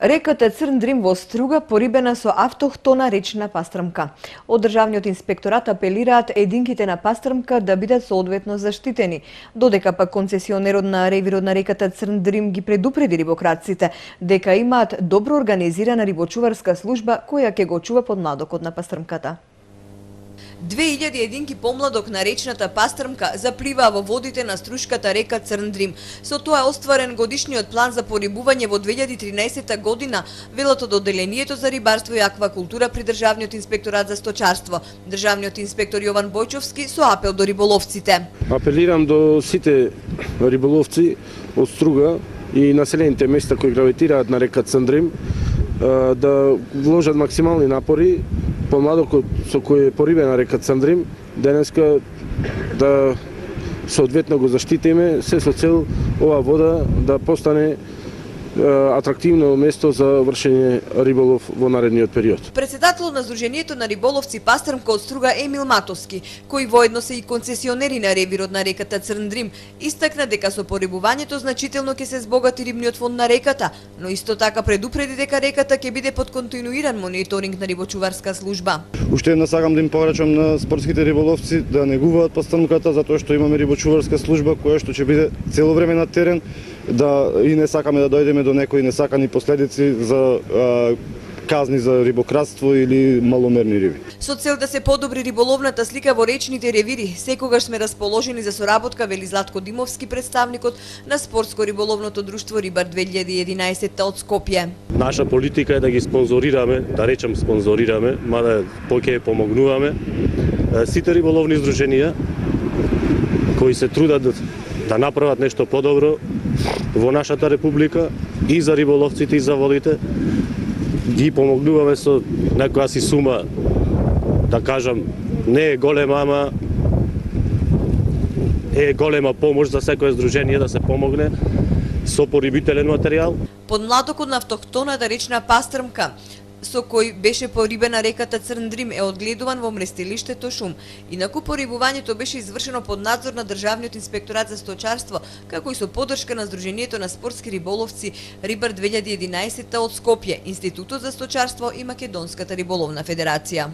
Реката Црн Дрим во Струга порибена со автохтона речна пастрмка. Од Државниот инспекторат апелираат единките на пастрмка да бидат соодветно заштитени, додека пак концесионерот на ревирот на реката Црн Дрим ги предупреди рибокраците дека имаат добро организирана рибочуварска служба која ќе го чува подмладокот на пастрмката. 2000 единки помладок на речната пастрмка запливаа во водите на струшката река Црн Дрим. Со тоа е остварен годишниот план за порибување во 2013 година, велат од Одделението за рибарство и аквакултура при Државниот инспекторат за сточарство. Државниот инспектор Јован Бојчовски со апел до риболовците. Апелирам до сите риболовци од Струга и населените места кои гравитираат на река Црн Дрим да вложат максимални напори помладокот со кој е порибена река Црн Дрим денеска да соодветно го заштитиме, се со цел оваа вода да постане атрактивно место за вршење риболов во наредниот период. Председателот на Сдруженијето на риболовци пастрмка од Струга Емил Матовски, кој воедно се и концесионери на ревирот на реката Црн Дрим, истакна дека со порибувањето значително ќе се збогати рибниот фонд на реката, но исто така предупреди дека реката ќе биде под континуиран мониторинг на рибочуварска служба. Уште една сакам да им порачам на спортските риболовци да негуваат пастрмката затоа што имаме рибочуварска служба која што ќе биде цело време на терен, да и не сакаме да дојдеме до некои несакани последици за казни за рибократство или маломерни риби. Со цел да се подобри риболовната слика во речните ревири, секогаш сме расположени за соработка, вели Златко Димовски, представникот на Спортско-риболовното друштво Рибар 2011 од Скопје. Наша политика е да ги спонзорираме, да речем спонзорираме, мада поќе помогнуваме сите риболовни здруженија кои се трудат да направат нешто подобро во нашата република и за риболовците и за водите. Ги помогнуваме со некоја си сума, да кажам, не е голема, ама е голема помош за секое здружение да се помогне со порибителен материјал. Подмладокот на автохтоната речна пастрмка со кој беше порибена реката Црн Дрим е одгледуван во мрестилиштето Шум. Инаку порибувањето беше извршено под надзор на Државниот инспекторат за сточарство, како и со поддршка на Сдруженијето на спортски риболовци Рибар 2011 од Скопје, Институтот за сточарство и Македонската риболовна федерација.